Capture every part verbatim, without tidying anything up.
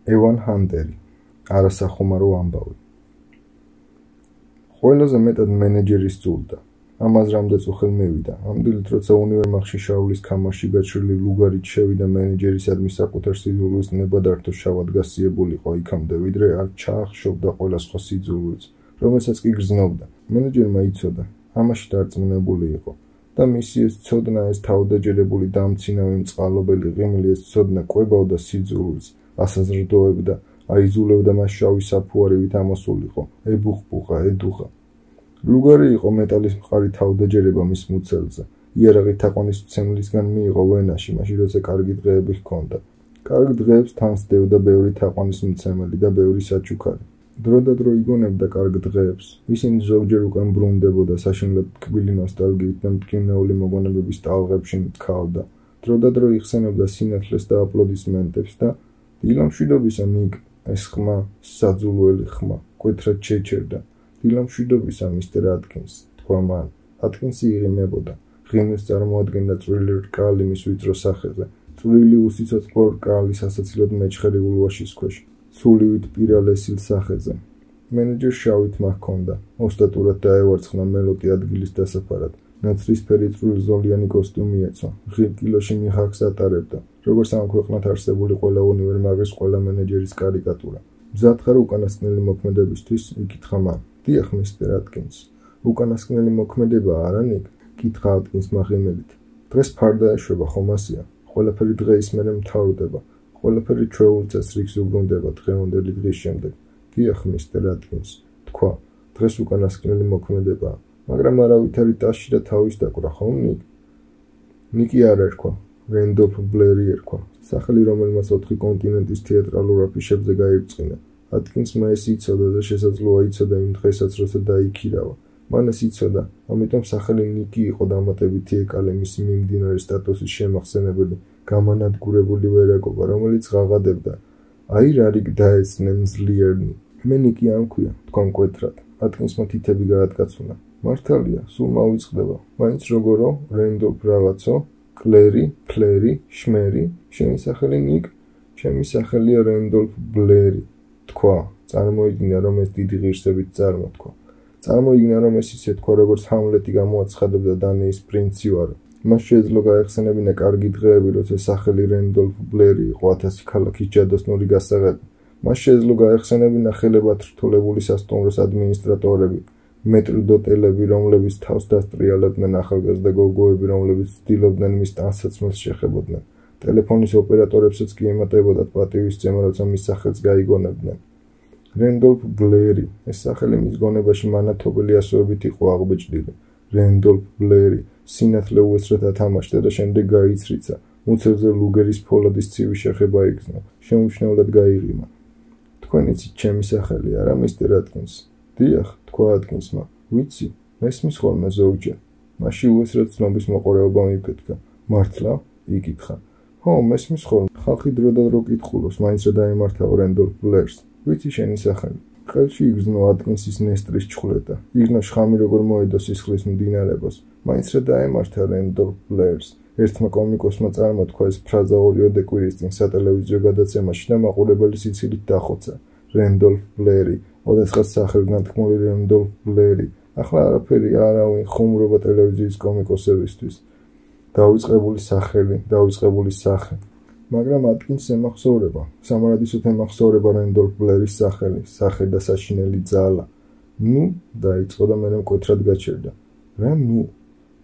ევან ჰანტერი, არასახუმარო ამბავი. ყველაზე მეტად მენეჯერი სძულდა. ამას რამდენიც უხელ მივიდა. ამდენით, როცა უნივერმაღში შაულის ქამარში გაჩრილი ლუგარით შევიდა მენეჯერისადმი საკუთარ სიძულვილს ნებადართო შავად გასიებულიყო იქამდე, ვიდრე არ ჩაახშობდა ყველა სხვა სიძულვილს, რომელსაც კი გრძნობდა. მენეჯერმა იცოდა, ამაში დარწმუნებული იყო და მისი ეს ცოდნა, ეს თავდაჯერებული დამცინავი მწყალობელი ღიმილი, ეს ცოდნა კვებავდა სიძულვილს, ასაზრდოებდა, აიზულებდა მას შავი საფუარივით ამოსულიყო, ებუხბუხა, ედუღა. ლუგარი იყო მეტალის მყარი თავდაჯერება მის მუცელზე. იარაღი თაყვანის მცემლისგან მიიღო ვენაში, მაშინ როცა კარგი დღეები ჰქონდა. კარგ დღეებს თან სდევდა ბევრი თაყვანის მცემელი და ბევრი საჩუქარი. დრო და დრო იგონებდა კარგ დღეებს. ისინი ზოგჯერ უკან ბრუნდებოდა საშინლად ტკბილი ნოსტალგიით და მტკივნეული მოგონებების ტალღებში მტქავდა. დრო და დრო იხსენებდა სინათლეს და აპლოდისმენტებს და დილამშვიდობისა ნიკ, ეს ხმა, საძულველი ხმა, კვეთრად შეჩერდა. დილამშვიდობისა მისტერ ატკინს, თქვა მან. ატკინსი იღიმებოდა. ღიმილს წარმოადგენდა წვრილი რკალი მის ვიწრო სახეზე, წვრილი უსიცოცხლო რკალი სასაცილოდ მეჩხერი ულვაშის ქვეშ, ცულივით პირალესილ სახეზე. მენეჯერს შავი თმა ჰქონდა, ოსტატურად დაევარცხნა მელოტი ადგილის დასაფარად. ნაცრისფერი წვრილზოლიანი კოსტუმი ეცვა, ღირ კილოში მიხაკს ატარებდა, როგორც ამ ქვეყნად არსებული ყველა უნივერმაღის ყველა მენეჯერის კარიკატურა. მზად ხარ უკანასკნელი მოქმედებისთვის, იკითხა მან. დიახ, მისტერ ატკინს. უკანასკნელი მოქმედება არა ნიკ? კითხა ატკინსმა ღიმილით. დღეს ფარდა ეშვება, ხომ ასეა? ყველაფერი დღეის მერე მთავრდება. ყველაფერი ჩვეულ წესრიგს უბრუნდება დღევანდელი დღის შემდეგ. დიახ, მისტერ ატკინს, თქვა. დღეს უკანასკნელი მოქმედებაა, მაგრამ არავითარი ტასში და თავის დაკვრა, ხომ ნიკ? ნიკი არ ერქვა, რენდოლფ ბლერი ერქვა, სახელი რომელმაც ოთხი კონტინენტის თეატრალურ აფიშებზე გაირწყინა. ატკინსმა ეს იცოდა და შესაძლოა იცოდა იმ დღესაც, როცა დაიქირავა. მან ეს იცოდა, ამიტომ სახელი ნიკი იყო დამატებითი ეკალე მისი მიმდინარე სტატუსის შემახსენებელი, გამანადგურებული ვერაგობა, რომელიც ღაღადებდა. აი რა რიგ დაეცნენ ძლიერნი. მე ნიკი არ მქვია, თქვა მკვეთრად. ატკინსმა თითები გაატკაცუნა. მართალია, სულ მავიწყდება. მაინც როგორო, რენდოლფ რაღაცო, კლერი, ფლერი, შმერი, შენი სახელი ნიკ, ჩემი სახელია რენდოლფ ბლერი. თქვა, წარმოიდგინა, რომ ეს დიდი ღირსებით წარმოთქვა. წარმოიდგინა, რომ ეს ისე თქვა, როგორც ჰამლეტი გამოაცხადებდა დანიის პრინცი ვარო. მას შეეძლო გაეხსენებინა კარგი დღეები, როცა სახელი რენდოლფ ბლერი იყო ათასი ქალაქის ჯადოსნური გასაღები. მას შეეძლო გაეხსენებინა ხელებად რთულებული სასტუმროს ადმინისტრატორები, მეტრდოტელები, რომლებიც თავს დასტრიალებდნენ ახალგაზრდა გოგოები, რომლებიც ცდილობდნენ მის ტანსაცმელს შეხებოდნენ. ტელეფონის ოპერატორებსაც კი ემატებოდათ პატივისცემა, როცა მის სახელს გაიგონებდნენ. რენდოლფ ბლერი, ეს სახელი მის გონებაში მანათობელი ასოებით იყო აღბეჭდილი. რენდოლფ ბლერი, სინათლე უეცრად ათამაშდა და შემდეგ გაიცრიცა. მუცელზე ლუგერის ფოლადის ცივი შეხება იგრძნო, შემუშნევლად გაიღიმა. თქვენ იცით ჩემი სახელი, არა, მისტერ ატკინს? დიახ, თქვა ატკინსმა. ვიცი, მესმის ხოლმე ზოგჯერ. მაშინ უეცრად ცნობის მოყარეობა მიფეთქა. მართლა? იკითხა. ხო, მესმის ხოლმე. ხალხი დრო და დრო კითხულობს, მაინც რა დაემართავ რენდოლფ ბლერს. ვიცი შენი სახელი. ხელში იგრძნო ატკინსის ნესტრის ჩხვლეტა. იგრძნო შხამი როგორ მოედო სისხლის მდინარებას. მაინც რა დაემართა რენდოლფ ბლერს. ერთმა კომიკოსმა წარმოთქვა ეს ფრაზა ორიოდე კვირის წინ სატელევიზიო გადაცემაში და მაყურებელი სიცილით დახოცა. რენდოლფ ბლერი, ოდესღაც სახელგანთქმული რენდოლფ ბლერი. ახლა არაფერი არავინ ხუმრობა ტელევიზიის კომიკოსებისთვის. დავიწყებული სახელი, დავიწყებული სახე. მაგრამ ატკინს ემახსოვრება, სამარადისოდ ემახსოვრება რენდოლფ ბლერის სახელი, სახე და საშინელი ძალა. ნუ, დაიწყო და მერე მკვეთრად გაჩერდა. რა ნუ?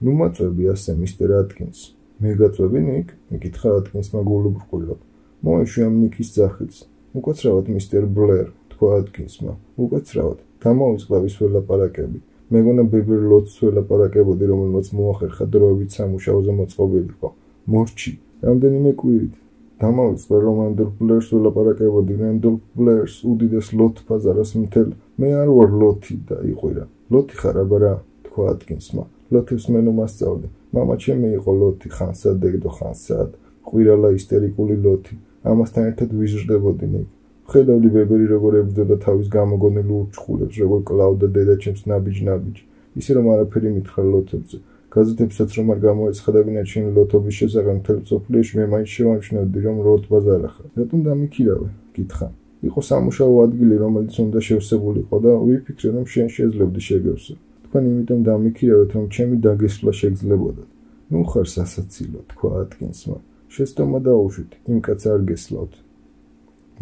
ნუ მაწვევი ასე, მისტერ ატკინს. მე გაწვევი ნიკ? იკითხა ატკინსმა გულუბრყვილად. მოეშვი ამ ნიკის ძახილს. უკაცრავად, მისტერ ბლერ, თქვა ატკინსმა. უკაცრავად, დამოვიწყდა ვის ველაპარაკები. მეგონა ბებერ ლოტს ველაპარაკებოდი, რომელმაც მოახერხა დროებით სამუშაოზე მოწყობილიყო. მორჩი, რამდენიმე კვირით. დამოვიწყდა რომ რენდოლფ ბლერს ველაპარაკებოდი, რენდოლფ ბლერს უდიდეს ლოთ ბაზარას მთელ. მე არ ვარ ლოთი და იყვირა. ლოთი ხარ აბა რა, თქვა ატკინსმა. ლოთებს მე ნუ მასწავლე. მამა ჩემი იყო ლოთი, ხანსად დეგდო ხანსად. ყვირალა ისტერიკული ლოთი. ამასთან ერთად ვიზრდებოდი ნიკ. ხედავდი ბებერი როგორ ებრძოდა თავის გამოგონილ ურჩხულებს, როგორ კლავდა დედაჩემს ნაბიჯ-ნაბიჯ. ისე რომ არაფერი მითხრა ლოთებზე. გაზეთებსაც რომ არ გამოეცხადებინა ჩემი ლოთობის შესახებ მთელ მსოფლიოში, მე მაინც შევამჩნევდი, რომ ლოთ ბაზარა ხარ. რატომ დამიქირავე? კითხა. იყო სამუშაო ადგილი, რომელიც უნდა შევსებულიყო და ვიფიქრე, რომ შენ შეძლებდი შეგევსო. თქვენ იმიტომ დამიქირავეთ, რომ ჩემი დაგესვლა შეგძლებოდათ. ნუ ხარ სასაცილო, თქვა ატკინსმა. შეცდომა დაუშვით, იმ კაცს არ გესლავთ.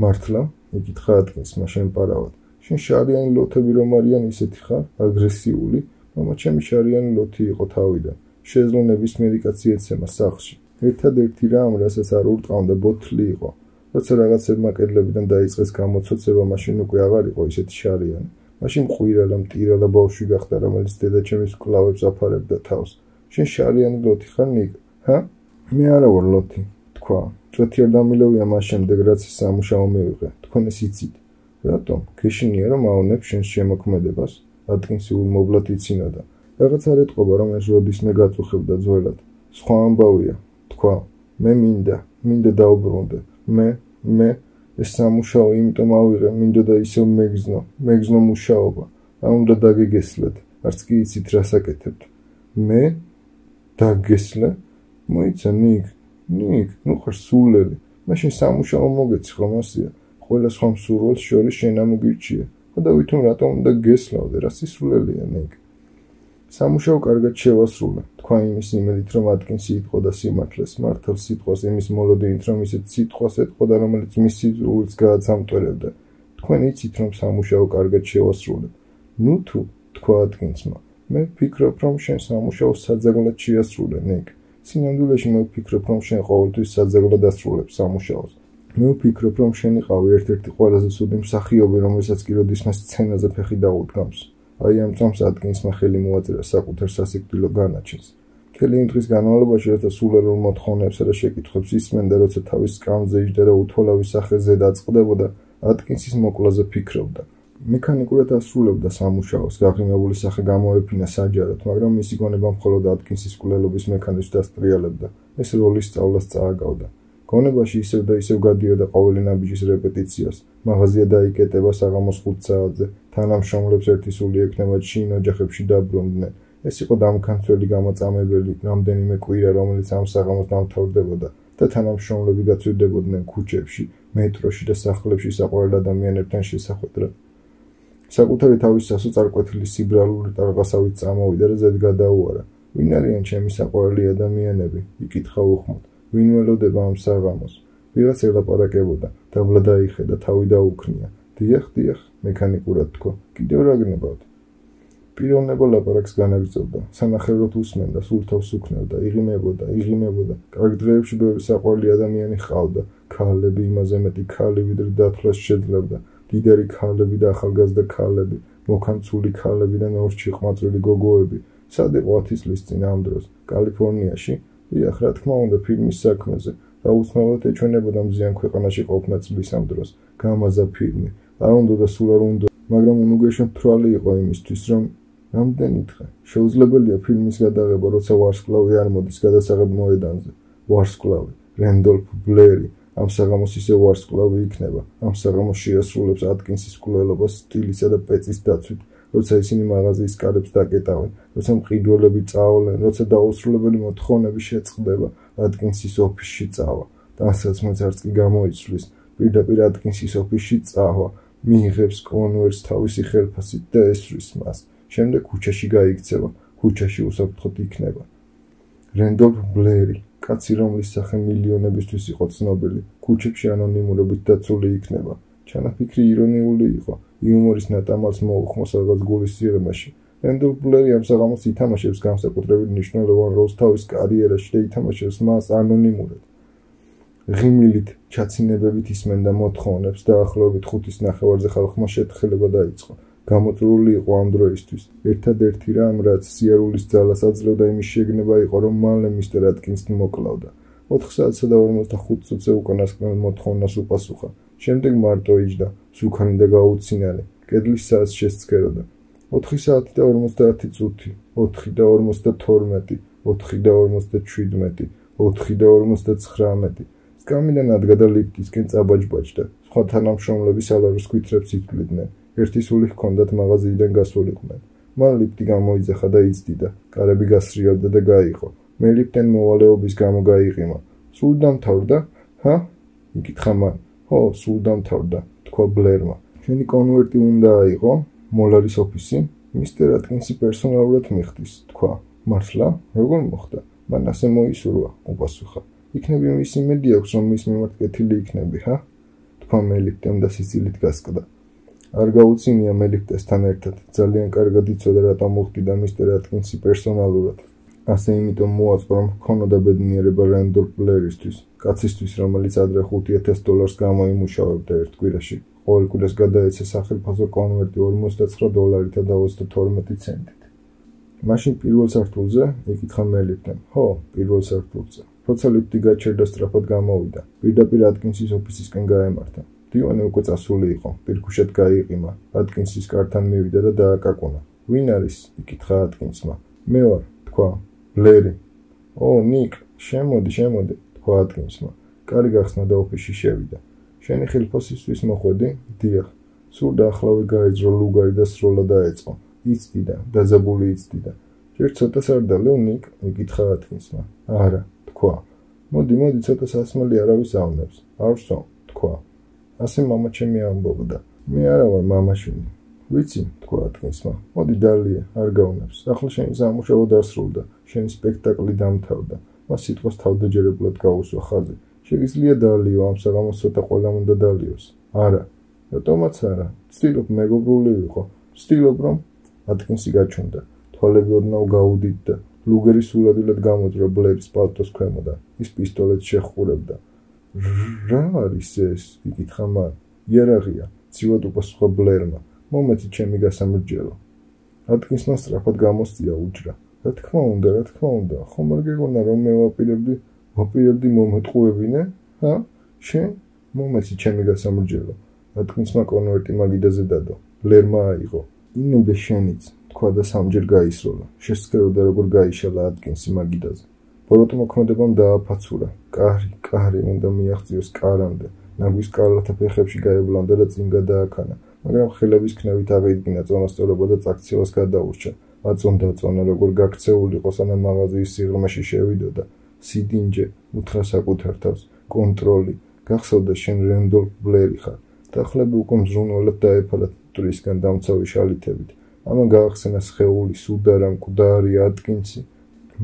მართლა? იკითხა ატკინსმა შემპარავად. შენ შარიანი ლოთები რომ არიან ისეთი ხარ, აგრესიული, მამა ჩემი შარიანი ლოთი იყო თავიდან. შეძლო ნებისმიერი კაცი ეცემა სახლში. ერთადერთი რამ, რასაც არ ურტყამდა, ბოთლი იყო. როცა რაღაცებმა კედლებიდან დაიწყეს გამოცოცება, მაშინ უკვე აღარ იყო ისეთი შარიანი. მაშინ ყვირალა, მტირალა ბავშვი გახდა, რომელიც დედაჩემის კლავებს აფარებდა თავს. შენ შარიანი ლოთი ხარ, ნიკ? ჰა? მე არა ვარ ლოთი, თქვა. წვეთი არ დამილევია მას შემდეგ, რაც სამუშაო მივიღე. თქვენ ეს იცით. რატომ? გეშინია, რომ ავნებ შენს შემოქმედებას? ატკინსი ულმობლად იცინოდა. რაღაც არ ეტყობა, რომ ეს როდისმე გაწუხებდა ძველად. სხვა ამბავია, თქვა. მე მინდა, მინდა დაუბრუნდე. მე, მე ეს სამუშაო იმიტომ ავიღე, მინდოდა ისევ მეგზნო, მეგზნო მუშაობა. რა უნდა დაგეგესლეთ, არც კი იცით რას აკეთებთ. მე დაგესლე? მოიცა ნიკ, ნიკ, ნუ ხარ სულელი. მაშინ სამუშაო მოგეცი ხომ ასია? ყველა სხვა მსურველს შორის შენ ამოგირჩია. და ვითომ რატომ უნდა გესლავდე, რა სისულელია ნიკ. სამუშაო კარგად შევასრულე, თქვა იმის იმედით, რომ ატკინსი იტყო და სიმართლეს, მართალ სიტყვას იმის მოლოდინით, რომ ისეთ სიტყვას ეტყოდა, რომელიც მის სიძულვილს გააცამტვერებდა. თქვენ იცით, რომ სამუშაო კარგად შევასრულე. ნუ თუ, თქვა ატკინსმა, მე ვფიქრობ, რომ შენ სამუშაოს საძაღლად შეასრულე, ნიკ. სინამდვილეში მე ვფიქრობ, რომ შენ ყოველთვის საძაღლად ასრულებ სამუშაოს. მე ვფიქრობ, რომ შენ იყავი ერთ-ერთი ყველაზე ცუდი მსახიობი, რომელსაც კი როდისმე სცენაზე ფეხი დაუდგამს. აი ამ წამს ატკინსმა ხელი მოაწერა საკუთარ სასიკვდილო განაჩენს. მთელი იმ დღის განმავლობაში, როცა სულელურ მოთხოვნებსა და შეკითხვებს ისმენდა, როცა თავის სკამზე იჯდა და უთვალავი სახეზე დაწყდებოდა, ატკინსის მოკლაზე ფიქრობდა. მექანიკურად ასრულებდა სამუშაოს, გაღრმავებული სახე გამოეფინა საჯაროდ, მაგრამ მისი გონება მხოლოდ ატკინსის კვლელობის მექანიზმს დასტრიალებდა. ეს როლის სწავლას წააგავდა. გონებაში ისევ და ისევ გადიოდა ყოველი ნაბიჯის რეპეტიციას. მაღაზია დაიკეტება საღამოს ხუთ საათზე. თანამშრომლებს ერთი სული ექნებათ შინ ოჯახებში დაბრუნდნენ. ეს იყო დამქანცველი გამოწამებელი რამდენიმე კვირა, რომელიც ამ საღამოს დამთავრდებოდა და თანამშრომლები გაწვირდებოდნენ ქუჩებში, მეტროში და სახლებში საყვარელ ადამიანებთან შესახვედრად. საკუთარი თავის სასოწარკვეთილი სიბრალული ტარღასავით წამოვიდა და ზედ გადაუარა. ვინ არიან ჩემი საყვარელი ადამიანები? იკითხა უხმოდ. ვინ ველოდება ამ საღამოს? ვიღაც ელაპარაკებოდა, დაბლა დაიხედა, თავი დაუქნია. დიახ, დიახ, მექანიკურად თქვა. კიდევ რა გნებავთ? პიროვნება ლაპარაკს განაგრძობდა, სანახევროდ უსმენდა, სულ თავს უქნევდა, იღიმებოდა, იღიმებოდა. კარგ დღეებში ბევრი საყვარელი ადამიანი ჰყავდა, ქალები, იმაზე მეტი ქალი, ვიდრე დათვლას შეძლებდა. დიდარი ქალები და ახალგაზრდა ქალები, მოქანცული ქალები და ნორჩი ყმაწვილი გოგოები. სად იყო ათი წლის წინ ამ დროს? კალიფორნიაში? დიახ, რა თქმა უნდა, ფილმის საქმეზე. აუცილებლად ეჩვენებოდა მზიან ქვეყანაში ყოფნა წლის ამ დროს. გამაზა ფილმი. არ უნდა და სულ არ უნდა, მაგრამ უნუგეშო მთვრალი იყო იმისთვის, რომ რამდენი დღე შეუძლებელია ფილმის გადაღება, როცა ვარსკვლავი არ მოდის გადასაღებ მოედანზე. ვარსკვლავი, რენდოლფ ბლერი. ამ საღამოს ისე ვარსკვლავი იქნება. ამ საღამოს შეასრულებს ატკინსის კვლელობას სტილისა და პეწის დაცვით, როცა ისინი მაღაზიის კარებს დაკეტავენ, როცა მყიდველები წაავლენ, როცა დაუსრულებელი მოთხოვნები შეწყდება, ატკინსის ოფისში წავა. დასაცმელს არც კი გამოიცვლის, პირდაპირ ატკინსის ოფისში წავა, მიიღებს კონვერტს თავისი ხელფასით და ესვრის მას. შემდეგ ქუჩაში გაიქცევა, ქუჩაში უსაფრთხოდ იქნება. რენდოლფ ბლერი, კაცი, რომლის სახე მილიონებისთვის იყო ცნობილი, ქუჩებში ანონიმურობით დაცული იქნება. ჩანაფიქრი ირონიული იყო, იუმორის ნატამალს მოუხმოს რაღაც გულის სიღრმეში. რენდოლფ ბლერი ამ საღამოს ითამაშებს განსაკუთრებით მნიშვნელოვან როლს თავის კარიერაში და ითამაშებს მას ანონიმურად. ღიმილით, ჩაცინებებით ისმენდა მოთხოვნებს და ახლობით ხუთის ნახევარზე ხალხმა შეთხელება დაიწყო. გამოწვეული იყო ამ დროისთვის. ერთადერთი რამ, რაც სიარულის ძალას აძლევდა იმის შეგნება იყო, რომ მალე მისტერ ატკინსი მოკლავდა. ოთხ საათსა და ორმოცდახუთ წუთზე უკანასკნელ მოთხოვნას უპასუხა. შემდეგ მარტო იჯდა, სუქანი და გაუცინარი, კედლის საათს შესცქეროდა. ოთხი საათი და ორმოცდაათი წუთი, ოთხი და ორმოცდათორმეტი, ოთხი და ორმოცდაჩვიდმეტი, ოთხი და ორმოცდაცხრამეტი. სკამიდან ადგა და ლიფტისკენ წაბაჯბაჯდა. სხვა თანამშრომლები სალაროს ქვითრებს ითვლიდნენ. ერთი სული ჰქონდათ მაღაზიიდან გასულიყვნენ. მან ლიფტი გამოიძახა და იცდიდა, კარები გასრიალდა და გაიყო. მე ლიფტენ მოვალეობის გამო გაიყიმა. სულ დამთავრდა? ჰა? იკითხა მან. ხო, სულ დამთავრდა, თქვა ბლერმა. შენი კონვერტი უნდა აიღო, მოლარის ოფისი, მისტერ ატკინსი პერსონალურად მიხდის, თქვა. მართლა? როგორ მოხდა? მან ასე მოისურვა, უპასუხა. იქნები მის იმედი აქვს, რომ მის მიმართ კეთილი იქნები, ჰა? თქვა მელიქტემ და სიცილით გასკდა. არ გაუწინია მელიქტესთან ერთად, ძალიან კარგად იცოდა რატომ მოხდიდა მისტერ ატკინსი პერსონალურად. ასე იმიტომ მოაწყო, რომ ჰქონოდა ბედნიერება რენდოლფ ბლერისთვის, კაცისთვის, რომელიც ადრე ხუთი ათას დოლარს გამოიმუშავებდა ერთ კვირაში. ყოველ კვირას გადაეცა სახელფასო კონვერტი ორმოცდაცხრა დოლარითა და ოცდათორმეტი ცენტით. მაშინ პირველ სართულზე? იკითხა მელიქტემ. ხო, პირველ სართულზე. როცა ლიფტი გაჩერდა, სწრაფად გამოვიდა. პირდაპირ ატკინსის ოფისისკენ გაემართა. დივანი უკვე წასული იყო, პირქუშად გაიყიმა. ატკინსის კართან მივიდა და დააკაკუნა. ვინ არის? იკითხა ატკინსმა. მე ვარ, თქვა. ბლერი. ო, ნიკ, შემოდი, შემოდი, თქვა ატკინსმა. კარი გახსნა და ოფისში შევიდა. შენი ხილფოსისთვის მოხვედი? დიახ. სულ დაახლავე გაეძრო ლუგარი და სროლა დაეწყო. იცდიდა, დაძაბული იცდიდა. ჯერ ცოტას არ დალევ, ნიკ? იკითხა ატკინსმა. არა, თქვა. მოდი, მოდი, ცოტა სასმელი არავის ავნებს. არ ვსო, თქვა. ასე მამაჩემი ამბობდა. მე არა ვარ მამაშვილი. ვიცი, თქვა ატკინსმა. მოდი დალია, არ გავნებს. ახლა შენი სამუშაო დასრულდა, შენი სპექტაკლი დამთავრდა. მას სიტყვას თავდაჯერებლად გაუსვა ხაზი. შეგიძლია დალიო, ამ საღამოს ცოტა ყველამ უნდა დალიოს. არა, რატომაც არა. ვცდილობ მეგობრული ვიყო. ვცდილობ, რომ ატკინსი გაჩნდა. თვალები ოდნავ გაუდიდდა. ლუგერი სულადვილად გამოძრა ბლერის პალტოს ქვემოდან. ის პისტოლეტს შეხურებდა. რა არის ეს? იკითხა მან. იარაღია, ცივად უპასუხა ბლერმა. მომეცი ჩემი გასამრჯელო. ატკინსმა სწრაფად გამოსწია უჯრა. რა თქმა უნდა, რა თქმა უნდა, ხომ არ გეგონა რომ მე ვაპირებდი, ვაპირებდი მომეტყუებინე? ჰა? შენ? მომეცი ჩემი გასამრჯელო. ატკინსმა კონვერტი მაგიდაზე დადო. ბლერმა აიღო. ინებე შენიც, თქვა და სამჯერ გაისროლა. შესწრებოდა როგორ გაიშალა ატკინსი მაგიდაზე. ბოროტმოქმედებამ დააფაცურა. კარი, კარი უნდა მიაღწიოს კარამდე. ნაგვის კარლათა ფეხებში გაებლანდა და წინ გადააქანა. მაგრამ ხელების ქნევით აღიდგინა წონასწორობა და წაქცევას გადაურჩა. აწონდა აწონა, როგორ გაქცეულიყო, სანამ მაღაზიის სიღრმეში შევიდოდა. სიდინჯე, უთხრა საკუთარ თავს, კონტროლი. გახსოვდა შენ რენდოლფ ბლერი ხარ. დახლები უკვე მზრუნველად დაეფალა ტურისგან დამცავი შალითებით. ამან გაახსენა სხეული, სუდარა, მკვდარი, ატკინსი.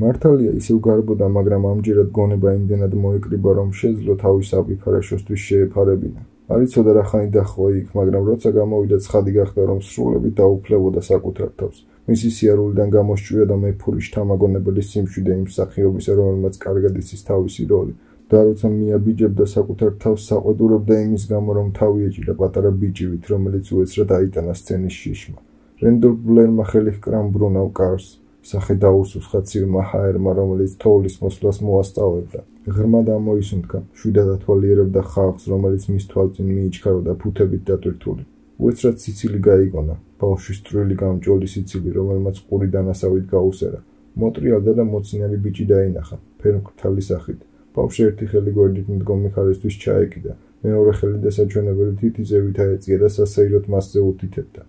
მართალია ისევ გარბოდა, მაგრამ ამჯერად გონება იმდენად მოეკრიბა, რომ შეძლო თავის აპიფარაშოსთვის შეეფარებინა. არ იცოდა რა ხანი დაჰყვა იქ, მაგრამ როცა გამოვიდა ცხადი გახდა, რომ სრულებით დაუფლებოდა საკუთარ თავს. მისი სიარულიდან გამოსჭვია და მეფური შთამაგონებელი სიმშვიდე იმ მსახიობისა, რომელმაც კარგად იცის თავისი როლი. და როცა მიაბიჯებდა საკუთარ თავს, საყვედურობდა იმის გამო, რომ თავი ეჭირა პატარა ბიჭივით, რომელიც უეცრად აიტანა სცენის შიშმა. რენდოლფ ბლერმა ხელი ჰკრა მბრუნავ კარს. სახე დაუსუსხა ცივმა ჰაერმა, რომელიც თოვლის მოსვლას მოასწავებდა. ღრმად ამოისუნთქა, შვიდად ათვალიერებდა ხალხს, რომელიც მის თვალწინ მიიჩქაროდა ფუთებით დატვირთული. უეცრად სიცილი გაიგონა, ბავშვის წვრილი გამჭოლი სიცილი, რომელმაც ყური დანასავით გაუსერა. მოტრიალდა და მოცინარი ბიჭი დაინახა, ფერმკრთალი სახით. ბავშვი ერთი ხელი გვერდით მდგომი ხარისთვის ჩაეკიდა, მეორე ხელი დასაჩვენებელი თითიზევით აეწია და სასეიროდ მასზე უთითებდა.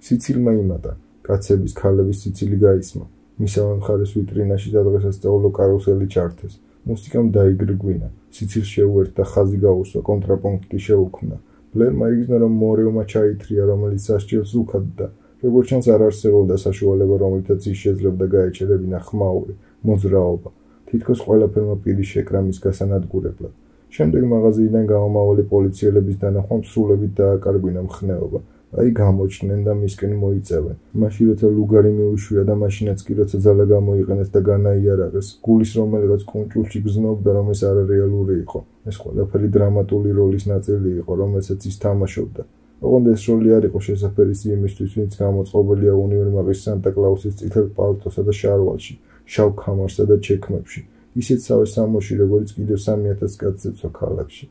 სიცილმა იმატა. კაცების, ქალების სიცილი გაისმა. მისავე მხარეს ვიტრინაში სადღესასწაულო კარუსელი ჩართეს. მუსიკამ დაიგრგვინა. სიცილს შეუერთდა, ხაზი გაუსვა, კონტრაპუნქტი შეუქმნა. ბლერმა იგრძნო, რომ მორევმა ჩაითრია, რომელიც სასჯელს უქადდა. როგორც ჩანს, არ არსებობდა საშუალება, რომლითაც ის შეძლებდა გაეჩერებინა ხმაური, მოძრაობა. თითქოს ყველაფერმა პირი შეკრა მის გასანადგურებლად. შემდეგ მაღაზიიდან გამომავალი პოლიციელების დანახვამ სრულებით დააკარგვინა მხნეობა. აი გამოჩნდნენ და მისკენ მოიწევენ. მაშინ როცა ლუგარი მიუშვია და მაშინაც კი როცა ძალა გამოიყენეს და განაიარაღეს, გულის რომელიღაც კუნჭულში გრძნობდა, რომ ეს არარეალური იყო. ეს ყველაფერი დრამატული როლის ნაწილი იყო, რომელსაც ის თამაშობდა. ოღონდ ეს როლი არ იყო შესაფერისი იმისთვის, ვინც გამოწყობილია უნივერმაღის სანტა-კლაუსის წითელ პალტოსა და შარვალში, შავ ქამარსა და ჩექმებში. ისეთ სავე სამოში, როგორც კიდევ სამი ათას კაცს ეცვა ქალაქში.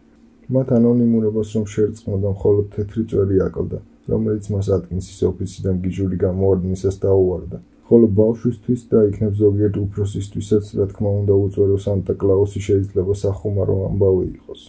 მათ ანონიმურობას რომ შერწყმოდა, მხოლოდ თეთრი წვერი აკლდა, რომელიც მას ატკინსის ოფისიდან გიჟური გამოარდნისას დაუვარდა. ხოლო ბავშვისთვის და იქნებ ზოგიერთ უფროსისთვისაც, რა თქმა უნდა, უწვერო სანტა-კლაუსი შეიძლება სახუმარო ამბავი იყოს.